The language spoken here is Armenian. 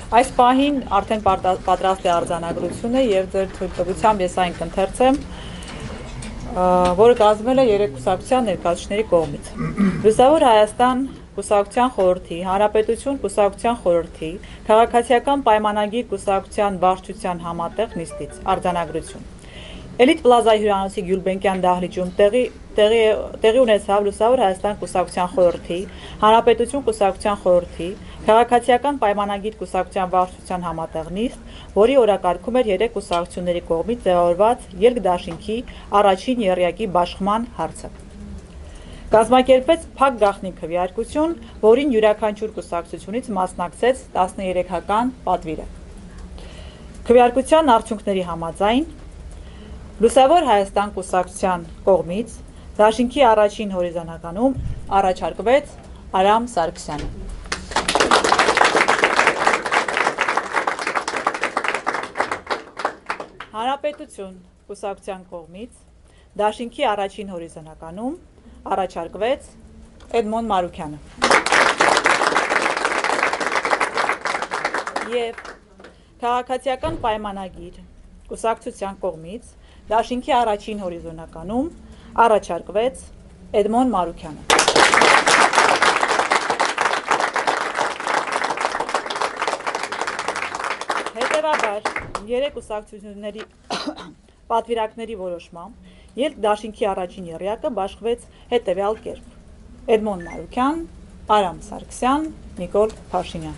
Այս պահին արդեն պատրաստ է արձանագրությունը եւ ձեր թույլտվությամբ ես այն կընթերցեմ, որը կազմվել է 3 կուսակցության ներկայացուցիչների կողմից։ Լուսավոր Հայաստան կուսակցության խորհրդի, Հանրապետություն կուսակցության խորհրդի, Քաղաքացիական պայմանագիր կուսակցության վարչության համատեղ նիստից արձանագրություն։ Էլիտ պլազայի հյուրանոցի Գյուլբենկյան դահլիճում տեղի ունեցավ Լուսավոր Հայաստան կուսակցության խորհրդի, Հանրապետություն կուսակցության խորհրդի, Քաղաքացիական պայմանագիր կուսակցության վարչության համատեղ նիստ, որի օրակարգում էր 3 կուսակցությունների կողմից ձևավորված երկդաշինքի առաջին եռյակի բաշխման հարցը։ Կազմակերպվեց փակ գաղտնի քվեարկություն, որին յուրաքանչյուր կուսակցությունից մասնակցեց 13-ական պատվիրակ։ Քվեարկության արդյունքների համաձայն Լուսավոր Հայաստան կուսակցության կողմից դաշինքի առաջին հորիզոնականում առաջարկվեց Արամ Սարգսյանը։ Հանրապետություն կուսակցության կողմից դաշինքի առաջին հորիզոնականում առաջարկվեց Էդմոն Մարուքյանը։ Եվ Քաղաքացիական պայմանագիր կուսակցության կողմից դաշինքի առաջին հորիզոնականում առաջարկվեց Էդմոն Մարուքյանը։ Հետևաբար 3 կուսակցությունների պատվիրակների որոշմամբ ելք դաշինքի առաջին եռյակը բաշխվեց հետևյալ կերպ. Էդմոն Մարուքյան, Արամ Սարգսյան, Նիկոլ Փաշինյան։